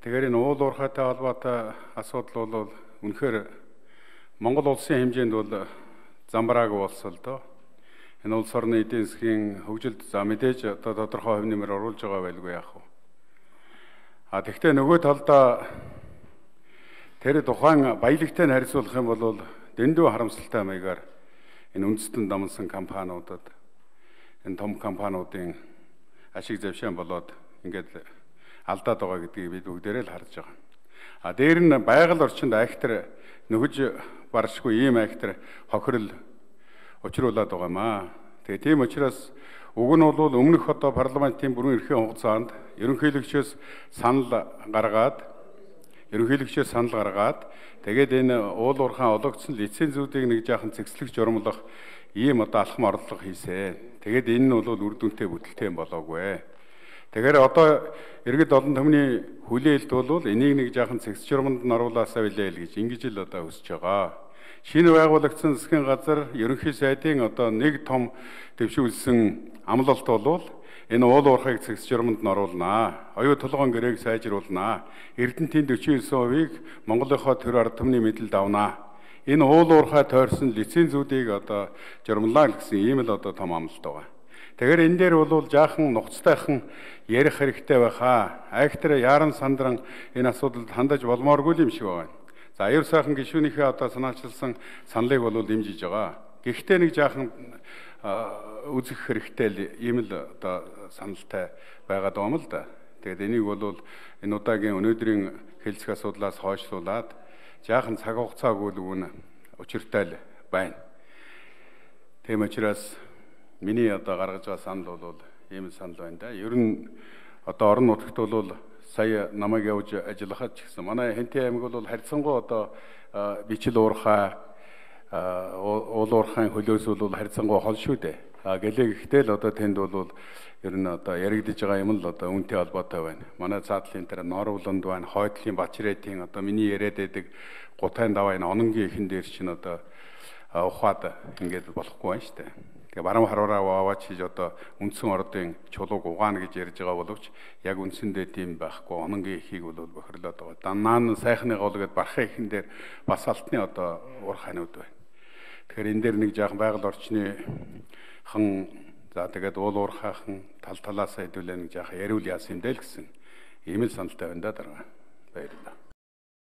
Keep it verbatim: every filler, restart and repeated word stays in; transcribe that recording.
Тэгэхээр энэ уул уурхайтай холбоотой асуудал бол үнэхээр Монгол улсын хэмжээнд бол замбраагүй болсон л доо. Энэ улс орны эдийн засгийн хөгжилд за мэдээж одоо тодорхой хувь нэмэр оруулж байгаа байлгүй яах вэ? А тэгвэл нөгөө талдаа тэр тухайн баялагтай харьцуулах юм бол дэндүү харамсалтай маягаар энэ үндэстэн дамнсан компаниудад энэ том компаниудын ашиг завшаан болоод ингээд алдаад байгаа гэдгийг бид бүгдээрээ л харж байгаа. А дээр нь байгаль орчинд айхтар нөхөж баршгүй ийм айхтар хохирол учруулад байгаа маа. Тэгээ тийм учраас уг нь бол өмнөх одоо парламентын бүрэн эрхийн хугацаанд ерөнхийлөгчөөс санал гаргаад ерөнхийлөгчөөс санал гаргаад тэгээд энэ уул уурхайн ологдсон лицензүүдийг нэг жаахан цэгцлэх журмлах ийм одоо алхам орлого хийсэн. Тэгээд энэ нь бол үр дүнтэй бүтэлтэй юм болоогүй. Тэгэхээр одоо иргэд олон түмний хүлээлт бол энийг нэг жаахан цэгц журманд нь оруулаасаа билээ л гэж ингэж л одоо хүсэж байгаа. Шинэ байгуулагдсан засгийн газар ерөнхий сайдын одоо нэг том дэвшүүлсэн амлалт бол энэ уул уурхайг цэгц журманд нь оруулнаа. Оюу толгойн гэрээг сайжруулнаа. Эрдэнэтийн forty-nine хувийг Монголынхоо төр ард түмний мэдэлд авнаа. Энэ уул уурхай тойрсон лицензүүдийг одоо журмлаа гэсэн ийм л одоо том амлалт байгаа. Тэгэхээр энэ дээр бол жаахан нухацтайхан ярих хэрэгтэй байхаа. Айхтар яаран сандран энэ асуудалд хандаж болмооргүй юм шиг байна. За аюул сайхан гишүүнийхээ одоо санаачилсан саналыг бол дэмжиж байгаа. Гэхдээ нэг жаахан үзэх хэрэгтэй л ийм л одоо саналтай байгаад байгаа юм л да. Тэгээд энийг бол энэ удаагийн өнөөдрийн хэлцэх асуудлаас хойшлуулад жаахан цаг хугацаагүй л үн учиртай л байна. Тийм учраас миний одоо гаргаж байгаа санал бол ийм санал байна да. Ер нь одоо орон нутагт бол сая намайг явж ажиллахад ч гэсэн манай Хэнтэй аймаг бол харьцангуй одоо бичил уурхай уул уурхайн хөлөөс бол харьцангуй хол шүү дээ. А гэлээ гэхдээ л одоо тэнд бол ер нь одоо яригдж байгаа юм л одоо үнэтэй холбоотой байна. Манай цаатлын тэр Норовлонд байна, Хойдлын Бачрэтийн одоо миний яриад байдаг гутайн даваа энэ ононгийн ихэн дээр чинь одоо ухаад ингээд болохгүй байна шүү дээ. Тэгээ барам хараараа аваач хийж одоо үндсэн ордын чулууг угаана гэж ярьж байгаа боловч яг үндсэндээ тийм байхгүй ононгийн ихийг бол бохирлоод байгаа. Данаа нь сайхны голгээд бархаа ихэн дээр бас алтны одоо уурхайнууд байна. Тэгэхээр энэ дээр нэг жаахан байгаль орчны хан за тэгээд уул уурхайхан тал талаасаа хэдүүлээ нэг жаахан яриул яасан юм дээ л гэсэн ийм л саналтай байна да дараа. Баярлалаа.